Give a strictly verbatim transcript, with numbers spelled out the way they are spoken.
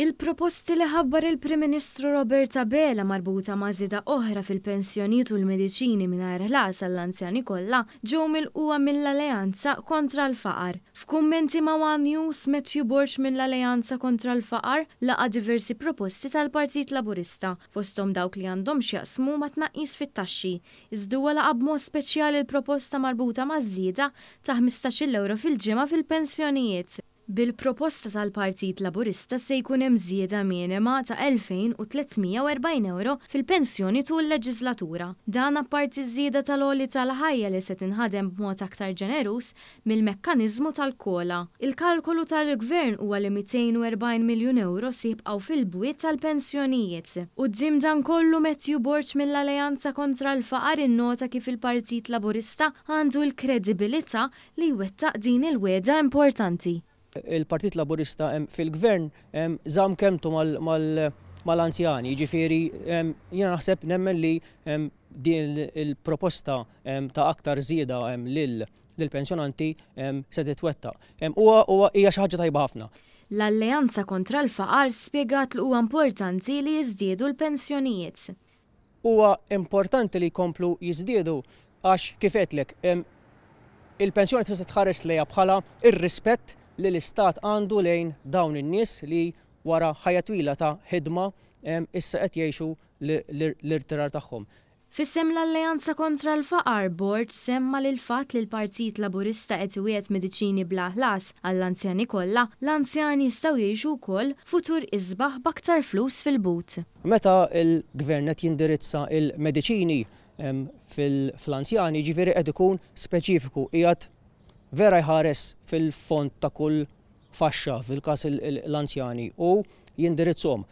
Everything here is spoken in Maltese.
Il-proposti li ħabbar il-Prim Ministru Robert Abela marbuta ma' żieda oħra fil-pensjonijiet u l-mediċini mingħajr ħlas għall-anzjani kollha ġew milqugħa mill-Alleanza kontra l-Faqar. F'kummenti ma' One News, Matthew Borg mill-Alleanza kontra l-Faqar laqa' diversi proposti tal-Partit Laburista, fosthom dawk li għandhom x'jaqsmu ma' tnaqqis fit-taxxi. Iżda huwa laqa' b'mod speċjali l-proposta marbuta ma' żieda ta' ħmistax-il euro fil-ġimgħa fil-pensjonijiet. Bil-proposta tal-Partit Laburista se jkun hemm żieda minima ta' elfejn u tliet mija u erbgħin euro fil-pensjoni tul leġislatura. Dan apparti żieda tal-għoli tal-ħajja li se tinħadem b'mod aktar ġeneruż mill-mekkaniżmu tal-COLA. Il-kalkolu tal-Gvern huwa li mitejn u erbgħin miljun euro se jibqgħu fil-bwiet tal-pensjonijiet. Quddiem dan kollu, Matthew Borg mill-Alleanza kontra l-Faqar innota kif il-Partit Laburista għandu l-kredibilità li jwettaq din il-wegħda importanti. Il-Partit Laburista fil-gvern żamm kelmtu mal-anzjani, ġifieri jiena naħseb, nemmen li din il-proposta ta' aktar żieda lill-pensjonanti se titwettaq. Huwa hija xi ħaġa tajba ħafna. L-Alleanza kontra l-Faqar spjegat li huwa importanti li jiżdiedu l-pensjonijiet. Huwa importanti li jkomplu jiżdiedu għax, kif għedtlek, il-pensjoni tista' tħares lejha bħala ir-rispett li l-istat għandu lejn dawn in-nies li wara ħajja twila ta' ħidma issa qed jgħixu l-irtirar tagħhom. F'isem l-Alleanza kontra l-Faqar, Borg semma li l-fatt li l-Partit Laburista qed iwiegħed mediċini bla ħlas għall-anzjani kollha, l-anzjani jistgħu jgħixu wkoll futur isbaħ b'aktar flus fil-but. Meta l-gvern qed jindirizza il-mediċini fil-anzjani, ġifieri qed ikun speċifiku, qiegħed vera jħares fil-fond ta' kull faxxa, fil-każ l-anzjani, u jindirizzhom.